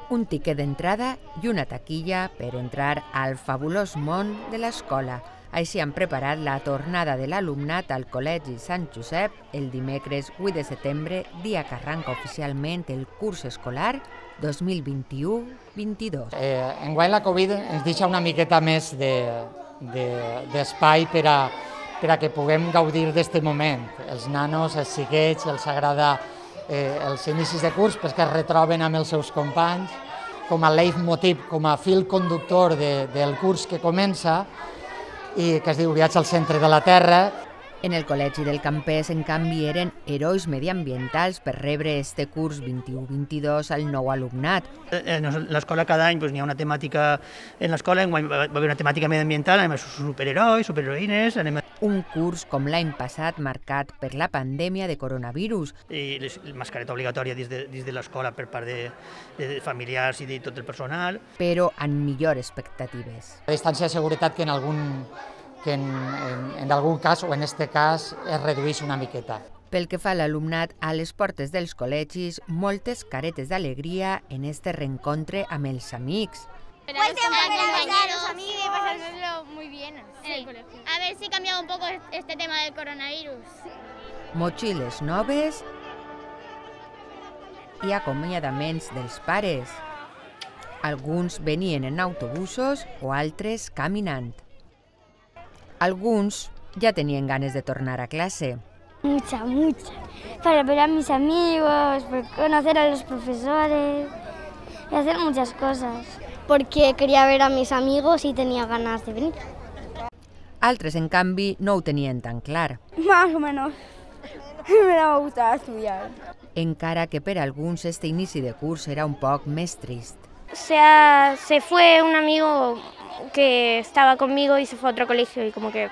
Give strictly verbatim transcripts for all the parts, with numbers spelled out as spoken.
un tiquet d'entrada i una taquilla per entrar al fabulós món de l'escola. Així han preparat la tornada de l'alumnat al Col·legi Sant Josep el dimecres vuit de setembre, dia que arranca oficialment el curs escolar dos mil vint-i-u vint-i-dos. Eh, enguany la Covid ens deixa una miqueta més d'espai de, de, per, a, per a que puguem gaudir d'aquest moment. Els nanos, els xiquets, els agrada eh, els inicis de curs perquè es retroben amb els seus companys, com a leitmotiv, com a fil conductor de, del curs que comença, i que es diu Viatge al centre de la Terra. En el Col·legi del Campès, en canvi, eren herois mediambientals per rebre este curs vint-i-u vint-i-dos al nou alumnat. En l'escola cada any hi ha una temàtica en l'escola, va haver una temàtica mediambiental, anem a superherois, superheroïnes... Anem a... Un curs com l'any passat marcat per la pandèmia de coronavirus. I la mascareta obligatòria dins de, dins de l'escola per part de, de familiars i de tot el personal. Però amb millors expectatives. La distància de seguretat que en algun... que en, en, en algun cas, o en aquest cas, es redueix una miqueta. Pel que fa a l'alumnat, a les portes dels col·legis, moltes caretes d'alegria en este reencontre amb els amics. Pues tengo que acompañar a los amigos y pasárnoslo muy bien. Sí. A ver si cambia un poco este tema del coronavirus. Motxilles noves i acomiadaments dels pares. Alguns venien en autobusos o altres caminant. Alguns ya tenían ganas de tornar a clase. Mucha, mucha. Para ver a mis amigos, para conocer a los profesores y hacer muchas cosas. Porque quería ver a mis amigos y tenía ganas de venir. Altres, en canvi, no ho tenien tan clar. Más o menos. Me daba gustar estudiar. Encara que per alguns este inici de curs era un poc més trist. O sea, se fue un amigo que estaba conmigo y se fue a otro colegio y como que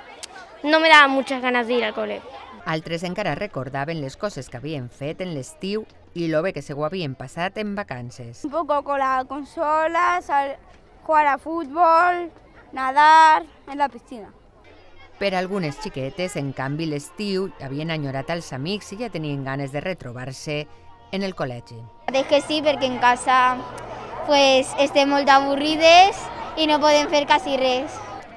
no me daba muchas ganas de ir al cole. Altres encara recordaven les coses que havien fet en l'estiu i lo bé que se ho havien passat en vacances. Un poco con la consola, jugar a fútbol, nadar en la piscina. Per algunes xiquetes, en canvi, l'estiu havien enyorat els amics i ja tenien ganes de retrobar-se en el col·legi. És que sí, perquè en casa pues, estem molt avorrides i no podem fer quasi res.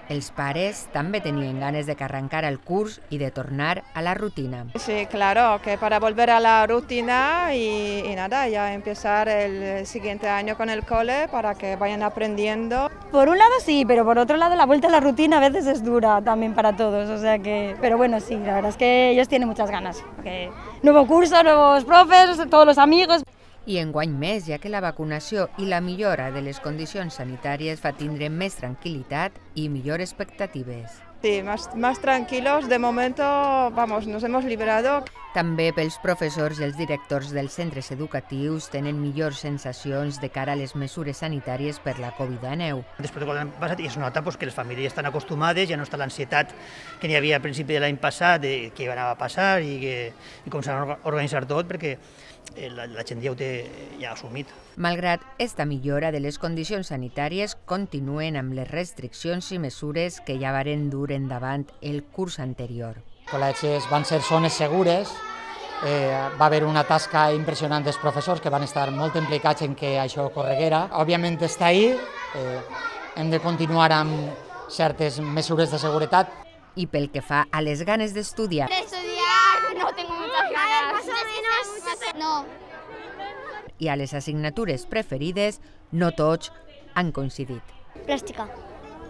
Els pares també tenien ganes de que arrancara el curs i de tornar a la rutina. Sí, claro, que para volver a la rutina y, y nada, ya empezar el siguiente año con el cole para que vayan aprendiendo. Por un lado sí, pero por otro lado la vuelta a la rutina a veces es dura también para todos, o sea que... Pero bueno, sí, la verdad es que ellos tienen muchas ganas, porque nuevo curso, nuevos profes, todos los amigos... I enguany més, ja que la vacunació i la millora de les condicions sanitàries fa tindre més tranquil·litat i millors expectatives. Sí, más, más tranquilos. De momento, vamos, nos hemos liberado. També pels professors i els directors dels centres educatius tenen millors sensacions de cara a les mesures sanitàries per la Covid dinou. Després de l'any passat es nota pues, que les famílies estan acostumades, ja no està l'ansietat que n'hi havia al principi de l'any passat, de què anava a passar i, que, i com s'ha d'organitzar tot, perquè la, la gent ja ho té ja assumit. Malgrat esta millora de les condicions sanitàries, continuen amb les restriccions i mesures que ja varen dur endavant el curs anterior. Els col·legis van ser zones segures, eh, va haver una tasca impressionant dels professors que van estar molt implicats en que això ocorreguera. Òbviament està ahí, eh, hem de continuar amb certes mesures de seguretat. I pel que fa a les ganes d'estudiar... Estudiar, no tengo muchas ganas. No. I a les assignatures preferides, no tots han coincidit. Plàstica.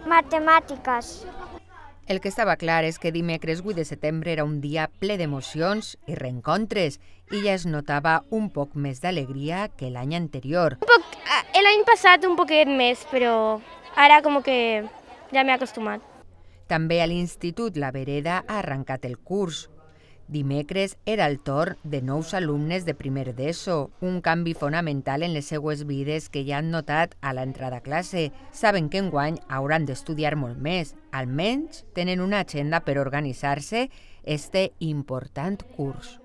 Matemàtiques. El que estava clar és que dimecres vuit de setembre era un dia ple d'emocions i reencontres i ja es notava un poc més d'alegria que l'any anterior. Un poc, l'any passat un poquet més, però ara com que ja m'he acostumat. També a l'Institut La Vereda ha arrencat el curs. Dimecres era el torn de nous alumnes de primer d'ESO, un canvi fonamental en les seues vides que ja han notat a l'entrada a classe. Saben que enguany hauran d'estudiar molt més, almenys tenen una agenda per organitzar-se este important curs.